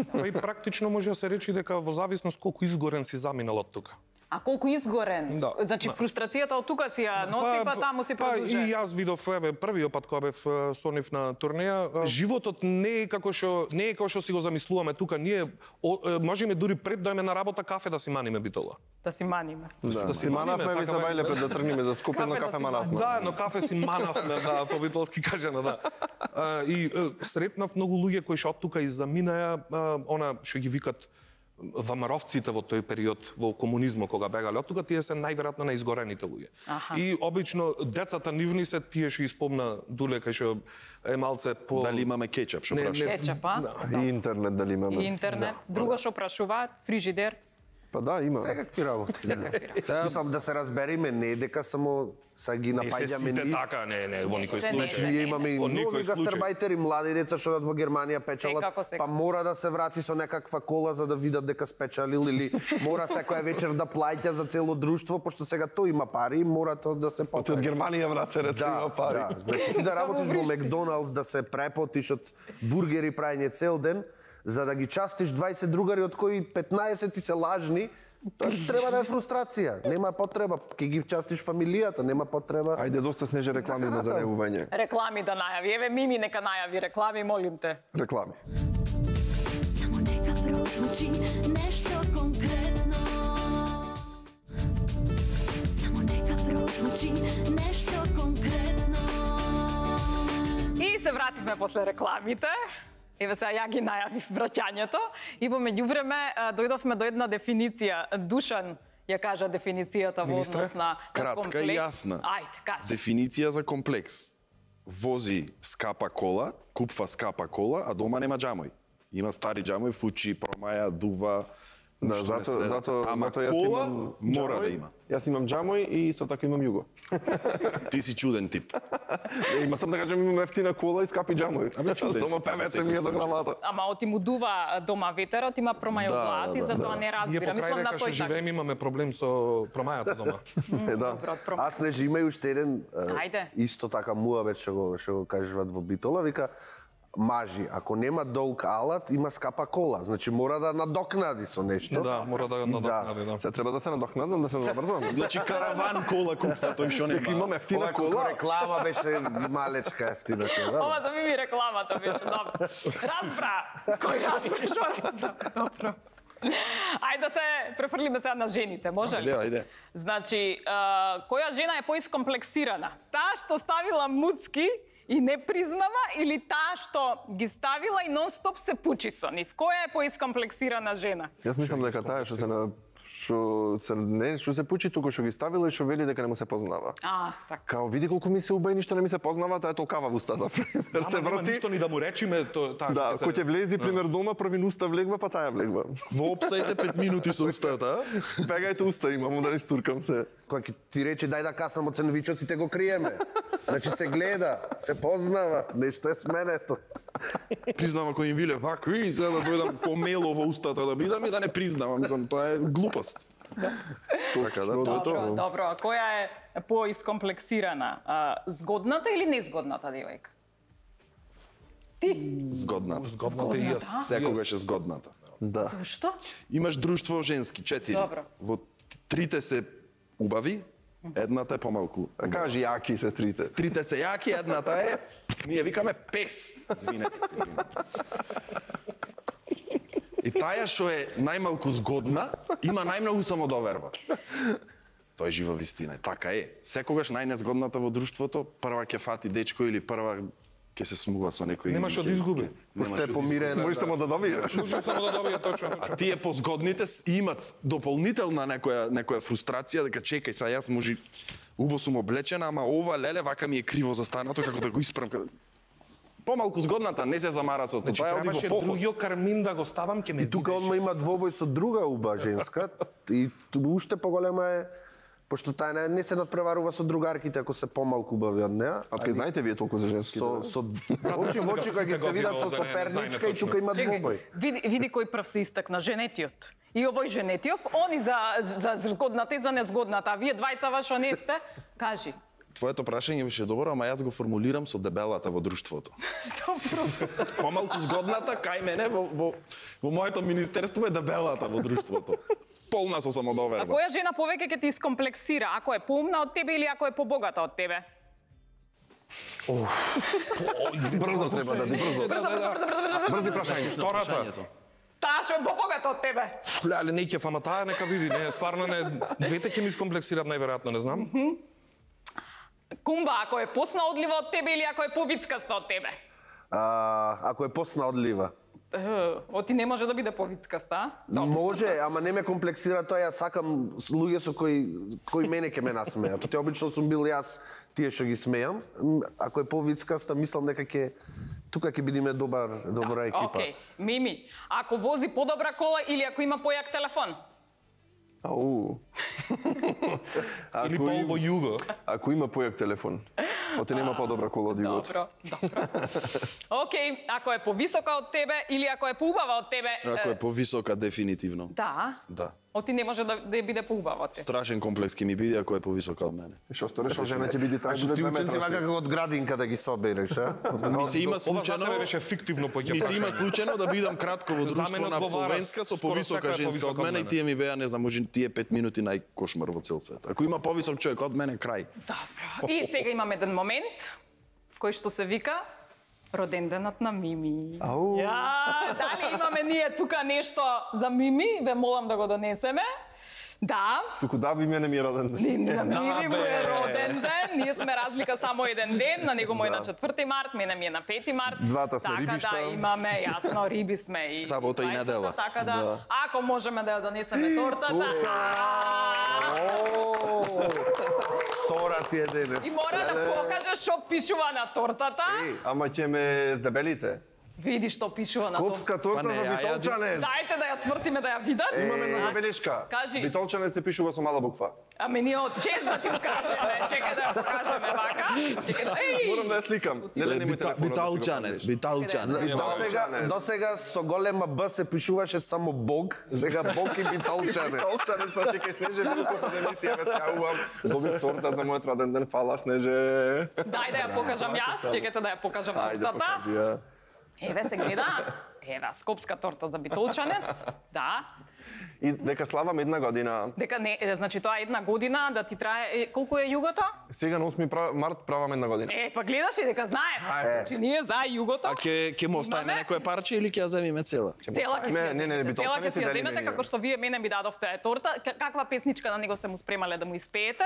Па и практично може да се рече дека во зависност колку изгорен си заминал од тука. А колку изгорен? Да, Значи да. фрустрацијата од тука си ја носи, па, таму си продолжува. Па и јас видов еве првиот пат кога бев е, со нив на турнеја, е, животот не е како што не е како што си го замислуваме тука. Ние о, е, можеме дури пред да име на работа кафе да си маниме битола. Да си маниме. Да, да си си манавме, маниме, ми се така бајле бе. пред да тргнеме за Скопје, но Кафе да кафе си манавме. Да, но кафе си манавме, да, по битолски кажано, да. А, и е, сретнав многу луѓе кои што од тука и заминаја, а, она што ги викат вамаровците во тој период во комунизмот кога бегале од тука, тие се најверојатно најизгорените луѓе. Аха. И обично децата нивни се тие што испомна Дуле кај што е малце по Дали имаме кетчап, што Не, праша? не. Кетчапа, И интернет дали и имаме? интернет. Друго што прашуваат, фрижидер. Па да, има. Секакви работи. Мислам да се разбериме, не е дека само са ги Не се напаѓаме сите нив. така, не, не, во никој Се не, Значи, случај. ние имаме и Во многу никој случај. гастарбајтери, млади деца што одат во Германија печалат, Секако, секако. па мора да се врати со некаква кола за да видат дека спечалил или мора секоја вечер да плаќа за цело друштво, пошто сега тој има пари и мора тоа да се Оти од поправи. Германија врате рече има Да, пари. да. Значи ти да работиш во Макдоналдс, да се препотиш од бургери прајање цел ден, за да ги частиш дваесет другари од кои петнаесет ти се лажни, тоа треба да е фрустрација. Нема потреба, ќе ги частиш фамилијата, нема потреба. Ајде, доста снеже реклами Така, на да. занемување. Реклами да најави. Еве Мими нека најави реклами, молим те. Реклами. Само нека прозвучи нешто конкретно. Само нека прозвучи нешто конкретно. И се вративме после рекламите. Еве сега ја ги најавив враќањето и во меѓувреме а, дојдовме до една дефиниција. Душан ја кажа дефиницијата во Министре? однос на на Кратка и комплекс. јасна. Ајде, кажи. Дефиниција за комплекс. Вози скапа кола, купва скапа кола, а дома нема џамој. Има стари џамој, фучи, промаја, дува, Да, ништо не зато, се зато, Ама зато јас кола имам мора џамој, да има. Јас имам џамој и исто така имам југо. Ти си чуден тип. Е, Има сам да кажам имам ефтина кола и скапи џамој. Абе, чуден Дома си, певеце во ми е секој до случај. грамата. Ама оти му дува дома ветерот, има промаја Да, од главата и да, затоа да. не Ние разбира. покрај Мислам на дека што тој така. живееме имаме проблем со промајата дома. Е, да. Добро, промаја. Аз не има и уште еден е, Ајде. исто така муабет што го што го кажуваат во Битола, вика мажи, ако нема долг алат, има скапа кола. Значи мора да надокнади со нешто. Да, мора да надокнади, да. Се треба да се надокнадам, да се забрзам. Значи караван кола купува, тој што нема. Имам ефтина Ова кола. кола реклама беше малечка ефтина кола. Ова да ми ми рекламата беше, добро. Разбра! Кој разбра, што разбра? Добро. Ајде да се префрлиме сега на жените, може ли? Ајде, ајде. Значи, а, која жена е поискомплексирана? Таа што ставила муцки и не признава или таа што ги ставила и нон-стоп се пучи со нив? Која е поискомплексирана жена? Јас мислам дека таа што се на што се не што се пучи туку што ги ставила и што вели дека не му се познава. А, така. Као види колку ми се убај, ништо не ми се познава, таа е толкава во устата. Пример се Ама нема врти. ништо ни да му речиме, то таа Да, ќе се- кој ќе влези пример дома, први уста влегва, па таа влегва. Во опсајте пет минути со устата, Бегајте уста, имам да не стуркам се. Кој ќе ти рече дај да касам од сендвичоците го криеме. Значи се гледа, се познава, нешто е сменето. признава кој им биле вакви, сега да дојдам помело во устата да бидам и да не признавам, мислам, тоа е глупост. Така да, тоа е Добро, тоа. добро. А која е поискомплексирана? А, згодната или незгодната девојка? Ти? Згодната. Згодната и јас. Секогаш е згодната. Да. Зошто? Имаш друштво женски, четири. Добро. Во трите се убави, едната е помалку. А кажи јаки се трите. Трите се јаки, едната е, ние викаме пес. Извинете, се, извинете. И таја што е најмалку згодна, има најмногу самодоверба. Тоа е жива вистина, така е. Секогаш најнезгодната во друштвото, прва ќе фати дечко или прва ќе се смува со некој. Немаш од изгуби. Пошто е помирена. Можеш само да добиеш. Може само да добие точно. А тие позгодните с- имат дополнителна некоја некоја фрустрација дека чекај са јас може убо сум облечена, ама ова леле вака ми е криво застанато како да го испрам. Помалку згодната не се замара со тоа, Значи, таа оди во требаше поход. другиот кармин да го ставам, ќе ме И тука одма има двобој со друга уба женска и ту- уште поголема е пошто таа не, не се надпреварува со другарките ако се помалку убави од неа. А ке знаете вие толку за женски? Со со очи во очи кога ќе се видат со соперничка и тука има двобој. Види, види кој прв се истакна, женетиот. И овој женетиов, они за, за згодната и за незгодната. А вие двајца вашо не сте? Кажи. Твоето прашање беше добро, ама јас го формулирам со дебелата во друштвото. Помалку згодната кај мене во, во, во моето министерство е дебелата во друштвото. Полна со А самодоверба. која жена повеќе ќе ти искомплексира? Ако е поумна од тебе или ако е побогата од тебе? Брзо треба да ти брзо. Брзо, брзо, брзо, брзо, брзо. Брзи прашања. Втората. Таа што е побогата од тебе. Леле, не ќе фама таа нека види, не, стварно не, двете ќе ми искомплексират најверојатно, не знам. Кумба, ако е посна одлива од тебе или ако е повицкаста од тебе? А, ако е посна одлива. Е, Оти не може да биде повицкаста, а? Добро. Може, ама не ме комплексира тоа, јас сакам с- луѓе со кои кои мене ќе ме насмеат. Тоа обично сум бил јас, тие што ги смеам. М, Ако е повицкаста, мислам дека ќе тука ќе бидеме добар добра екипа. Океј, Мими, ако вози подобра кола или ако има појак телефон? Ау. Или Ако по им- обо југо. Ако има појак телефон, оти нема подобра кола од југот. Добро, добро. Океј, ако е повисока од тебе или ако е поубава од тебе? Ако е, е повисока, дефинитивно. Да. Да. Оти не може да, да биде поубава од тебе. Страшен комплекс ќе ми биде ако е повисока од мене. Што сториш, што жена ќе биде таа Што буде ти две ученци метра. вака како од градинка да ги собереш, а? Ми се има Ова за случајно, тебе беше фиктивно поќе ми се има прашање. случајно да бидам кратко во За друштво мене на одговара абсолвентска со скоро повисока секоја е женска од повисока од мене и мене. тие ми беа, не знам, може тие пет минути најкошмар во цел свет. Ако има повисок човек од мене, крај. Добро. И сега имаме еден момент кој што се вика роденденот на Мими. Ау. Ја, дали имаме ние тука нешто за Мими? Ве молам да го донесеме. Да, Туку да би мене ми е роден ден. на Мими му е роден ден. Ние сме разлика само еден ден. На него му е на четврти март, мене ми е на пети март. Двата сме така рибишта. да имаме, јасно, риби сме и Сабота и двајцата, недела. Така да, ако можеме да ја донесеме тортата. Тора ти е денес. И мора да покажеш што пишува на тортата. Еј, ама ќе ме здебелите. Види што пишува на тортата. Скопска торта Па не, за ја ја битолчанец. Дајте да ја свртиме да ја видат. Имаме една забелешка. Кажи. Битолчанец се пишува со мала буква. Ами ние од чест да ти го кажеме. Чекај да ја покажеме вака. Чекај да... Еј! Морам да ја сликам. Не да немој телефонот да си го Биталчанец, правиш. биталчанец. До сега, до сега со голема Б се пишуваше само Бог, сега Бог и битолчане. Битолчанец, па чекај, Снеже, високо под емисија, ве сјавувам. Добив торта за мојот роден ден, фала, Снеже. Дај да ја покажам јас. Чекајте да ја покажам Ајде, тортата. покажи ја. Еве се гледа. Еве, скопска торта за битолчанец. Да. И дека славам една година. Дека не, е, значи тоа е една година да ти трае е, колку е југото? Сега на осми март правам една година. Е, па гледаш и дека знаеме. Значи ние за југото. А ке ке му оставиме некое парче или ќе ја земиме цела? Цела ќе Не, не, не, не, цела ќе битолчани си си ја дали земете мене. како што вие мене ми дадовте торта. К- Каква песничка на него сте му спремале да му испеете?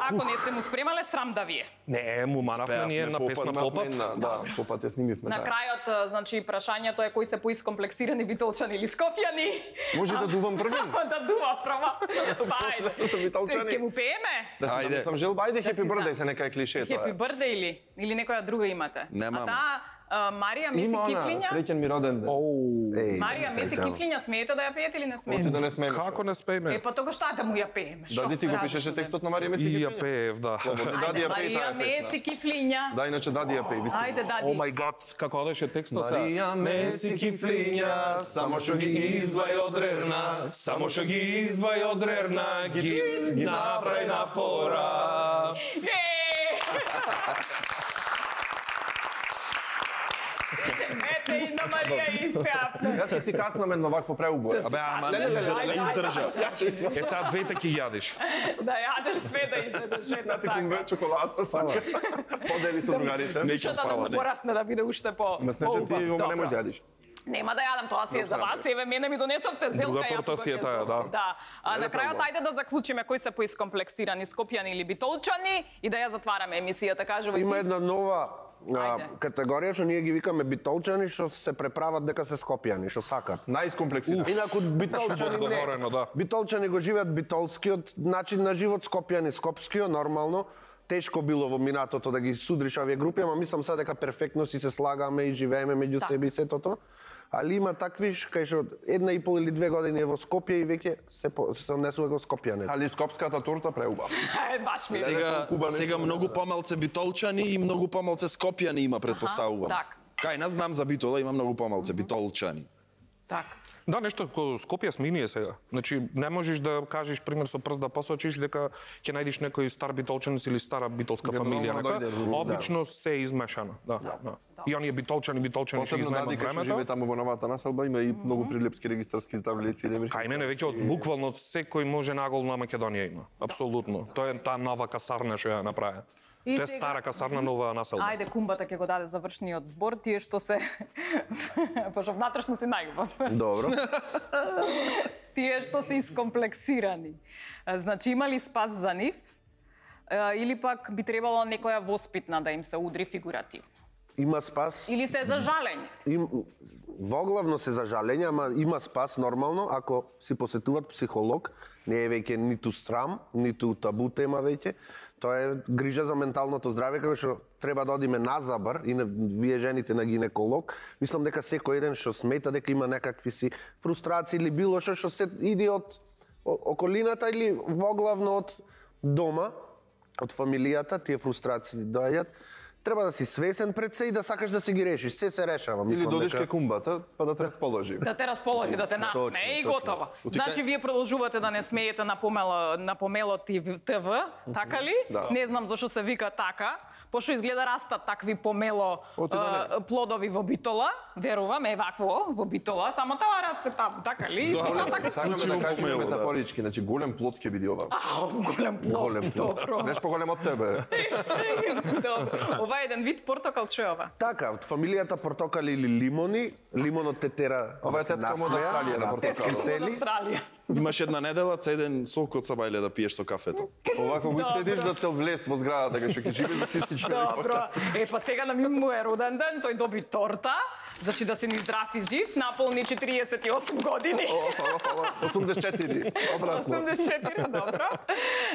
Ако не сте му спремале, срам да ви е. Не, му манавме ние една песна попат. Да, попат ја снимивме. На да. крајот, значи, прашањето е кои се поискомплексирани битолчани или скопјани. Може да дувам први? Да дува прва. Па, ајде. Са битолчани. Ќе му пееме? Да се Ајде. намислам желба, ајде хепи си бърдеј знам. се нека е клише тоа. Happy birthday или? Или некоја друга имате? Немам. А таа а, Марија Меси Има она, Кифлиња? среќен ми роден ден. Оу, Еј, Марија се Меси сеќавам. Кифлиња, смеете да ја пеете или не Оти смеете? да не смееш. како не спееме? Е, па тогаш таа да му ја пееме. Шо? Дади ти го пишеше Разумем. текстот на Марија Меси И ја Кифлиња? пеев, да. Слободно, дади Ајде, ја пеј Марија таа песна. Меси Кифлиња. Да, иначе дади ја пеј, ви сте. Ајде, О дади. мај гад, како одеше текстот се? Марија Меси Кифлиња, само што ги извај од рерна, Само што ги извај од рерна, ги направи на фора. Е! Ете и на Марија испеавте. Јас ќе си каснам едно вакво преубој. Абе, ама не Ајде, издржа, ајде, не ајде. издржа. Е, сега двете ќе јадеш. Да јадеш све да изедеш, ето Ти кумбе така. чоколада сака. Подели со другарите. Што да му порасне да биде уште по Ма снежа ти поубав. ома не Добро. можеш да јадиш. Нема да јадам, тоа си е за вас. Еве, мене ми донесовте зелка. Друга ја торта тука си е ќе таа, зелам. да. Да. А на Не, крајот да, ајде да заклучиме кои се поискомплексирани, скопјани или битолчани и да ја затвараме емисијата, кажувај Има ти. една нова а, Ајде. категорија што ние ги викаме битолчани, што се преправат дека се скопјани, што сакат. Најскомплексиран. Инаку битолчани Одговорено, да. не. Битолчани го живеат битолскиот начин на живот, скопјани скопскиот, нормално. Тешко било во минатото да ги судриш овие групи, ама мислам сега дека перфектно си се слагаме и живееме меѓу Так. себе и сето тоа. Али има такви кај што една и пол или две години е во Скопје и веќе се по- се однесува го скопјанец. Али скопската торта преубав. Е, баш ми. Сега Куба не сега знам. многу помалце битолчани и многу помалце скопјани има, предпоставувам. так. Кај нас знам за Битола има многу помалце битолчани. Так. Да, нешто ко Скопје смени сега. Значи, не можеш да кажеш пример со прст да посочиш дека ќе најдеш некој стар битолчанец или стара битолска фамилија, нормално нека. дојде, да. Обично се е измешано, да. да. И оние битолчани, битолчани што ги Посебно знаеме дади кај што времето. живее таму во новата населба има и многу прилепски регистарски таблици. Кај мене веќе од буквално од секој може нагол на Македонија има. Апсолутно. Тоа е таа нова касарна што ја направи. И Тоа е сега- стара касарна, нова населба. Ајде, кумбата ќе го даде завршниот збор, тие што се пошто внатрешно си најубав. Добро. Тие што се искомплексирани. А, Значи имали спас за нив а, или пак би требало некоја воспитна да им се удри фигуративно. Има спас. Или се за жалење. Им, воглавно се за жалење, ама има спас нормално ако си посетуват психолог, не е веќе ниту срам, ниту табу тема веќе. Тоа е грижа за менталното здравје, како што треба да одиме на забар и на, вие жените на гинеколог. Мислам дека секој еден што смета дека има некакви си фрустрации или било што што се иде од о- околината или воглавно од дома, од фамилијата, тие фрустрации доаѓаат. Треба да си свесен пред се и да сакаш да си ги решиш. Се се решава, Или мислам додиш дека. кај кумбата, па да те расположи. Да те расположи, да те насме Точно, и точно. готово. Значи вие продолжувате да не смеете на помело на помело ТВ, така ли? Да. Не знам зашо се вика така, пошто изгледа растат такви помело Оти да а, плодови во Битола, верувам, е вакво во Битола, само тоа расте таму, така ли? Да, Така Сакаме Исклучиво да кажеме помело, да. метафорички, значи голем плод ќе биде ова. А, голем плод. Голем плод. Добро. Неш поголем од тебе. Добро. Ова е еден вид портокал, што е ова? Така, од фамилијата портокали или лимони, лимонот те тера. Ова е да се тетка му од насмеја, Австралија на да, портокал. тетки Од сели. Австралија. Имаш една недела, цеден сок од сабајле да пиеш со кафето. Овако го Добро. следиш за цел влез во зградата, кај што ќе живееш да си стичи. Добро. Е, па сега на ми му е роден ден, тој доби торта. Значи да се ни здрав и жив, наполни четириесет и осум години. осумдесет и четири, обратно. осумдесет и четири, добро.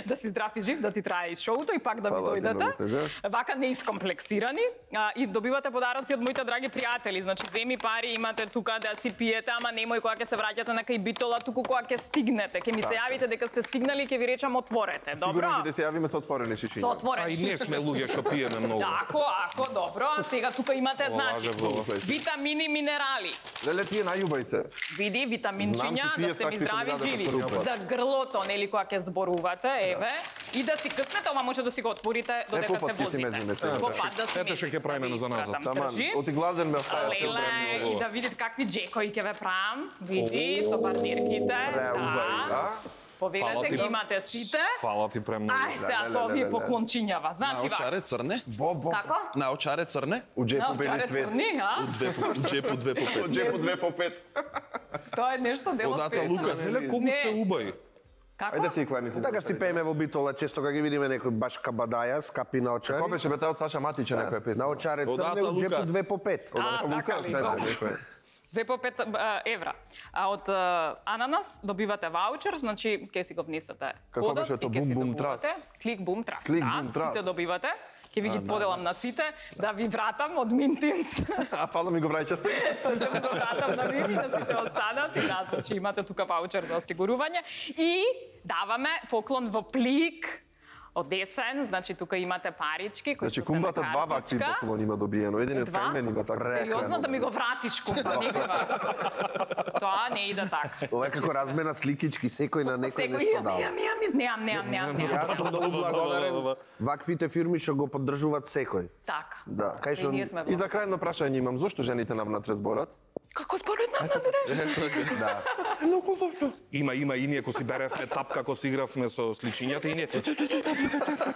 Да си здрав и жив, да ти трае и шоуто и пак да ми Фала ти, многу дојдете. снежа. Вака не искомплексирани а, и добивате подароци од моите драги пријатели. Значи земи пари, имате тука да си пиете, ама немој кога ќе се враќате на кај Битола, туку кога ќе стигнете. Ќе ми се јавите дека сте стигнали и ќе ви речам отворете. Добро? Сигурно ќе да се јавиме со отворени Со шишиња. А отворен. и не сме луѓе што пиеме многу. Ако, ако, добро. Сега тука имате, Ова значи, лаже во- витамин витамини и минерали. Леле, тие најубај се. Види, витаминчиња, да сте ми здрави живи. За грлото, нели, кога ќе зборувате, еве. И да си къснете, ова може да си го отворите додека се возите. Попат да си Ето што ќе правиме за назад. Таман, оти гладен ме остаја цел Леле, и да видите какви джекови ќе ве правам. Види, со партнерките. Да. Повелете ги имате сите. Фала ти премногу. Ај сега со овие поклончињава. Значи, Наочаре црне? како? Наочаре црне? У джепу бели Наочаре цвет. црни, а? Две по джепу две по пет. Од джепу две по пет. Тоа е нешто дело Од Аца песна. Лукас. Леле, колку се убај. Како? Ајде си клани се. Така си пееме во битола, често кога ги видиме некој баш кабадаја, скапи на очари. Како беше бе од Саша Матича некоја песна? На очаре Од црне, Аца у джепу Лукас. две по пет. А, така ли? Добро. Две по пет а, евра. А од а, Ананас добивате ваучер, значи ќе си го внесете. Како кодот беше и тоа? ќе си Бум, бум, добивате. трас? Клик бум трас. Клик, да, бум, трас. Сите добивате. Ќе ви ги поделам на сите, да ви вратам од Минтинс. А фала ми го враќа се. Да го вратам на ви, да сите останат и да, значи имате тука ваучер за осигурување. И даваме поклон во плик од десен, значи тука имате парички кои Значи што се на кумбата два вакви картичка. поклон има добиено. Единиот Два? кај мене има така. Сериозно да ми го вратиш кумба, никога. Тоа не иде така. Ова е како размена сликички, секој на некој Секој нешто имам, дава. имам, имам, немам, немам, немам, немам. Јас сум многу благодарен. Ваквите фирми што го поддржуваат секој. Така. Да, кај И што ние сме И за крајно прашање имам, зошто жените навнатре зборат? Како според на на да. Има, има и ние, ко си беревме тапка, ко си игравме со сличињата и ние...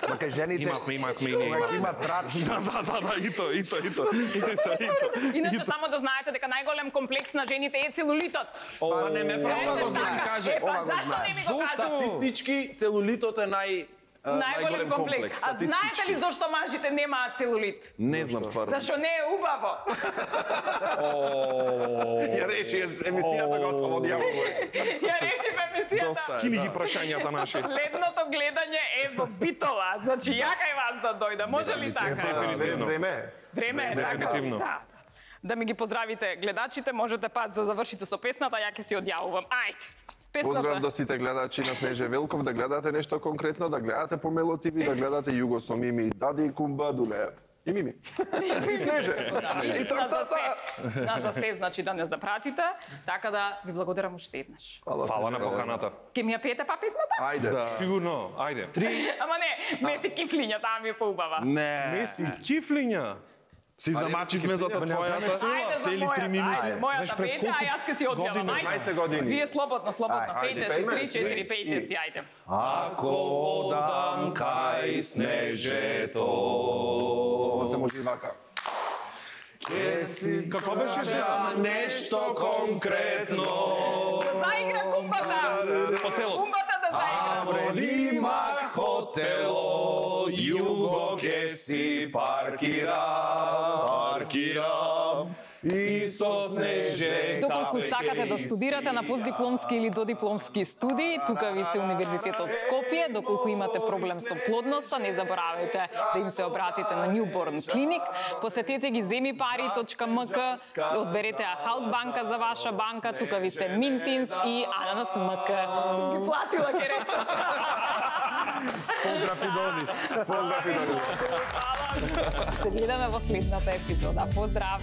Ма кај жените Имавме, имавме и ние. кога имавме. има трач, Да, да, да, да, и то, и то, и то, и то, и то. Иначе само да знаете дека најголем комплекс на жените е целулитот. Ова не ме прави да го знам. Каже, Е, па ова го зашто знае. не ми го кажа? статистички целулитот е нај а, Најголем комплекс. А знаете ли зашто мажите немаат целулит? Не знам стварно. Зашто не е убаво. Ја реши емисијата готова од јавно. Ја решив емисијата. Скини ги прашањата наши. Следното гледање е во битола. Значи ја кај вас да дојда. Може ли така? Дефинитивно. Време. Време е така. Дефинитивно. Да. Да ми ги поздравите гледачите, можете пас да завршите со песната, ја ќе си одјавувам. Ајде. Поздрав Песната. до сите гледачи на Снеже Велков, да гледате нешто конкретно, да гледате по Мело ти ви, да гледате Југо со Мими, Дади и Кумба, Дулеев. И Мими. И Снеже. И На за така се. На за се, значи да не запратите. Така да ви благодарам уште еднаш. Фала на поканата. Ке ми ја пеете па песната? Ајде. Сигурно, ајде. Ама не, Меси кифлиња, таа ми е поубава. Не. Меси, кифлиња. Се изнамачивме за Па не знаме твојата цела. Ајде за цели три мојата, минути. ајде, мојата Знаеш, пред пејте, а колку јас ке си одјавам. години? Ајде. петнаесет години. Вие слободно, слободно. Ајде, Пејте си, пејме. три, четири, пејте си, ајде. ако одам кај снежето, Ова се може и вака. Како беше се? нешто конкретно, Да заигра кумбата. Хотелот. Кумбата да заигра. пред има хотело, југо ке си паркирам, паркирам и со снеже. Доколку сакате да студирате на постдипломски или додипломски студии, тука ви се Универзитетот Скопје. Доколку имате проблем со плодноста, не заборавајте да им се обратите на Newborn Clinic. Посетете ги земипари точка ем ка, одберете Ахалт банка за ваша банка, тука ви се Минтинс и Ананас ем ка. Сум ги платила, ке речам. Поздрав и дони. Поздрав и да. Се гледаме во следната епизода. Поздрав!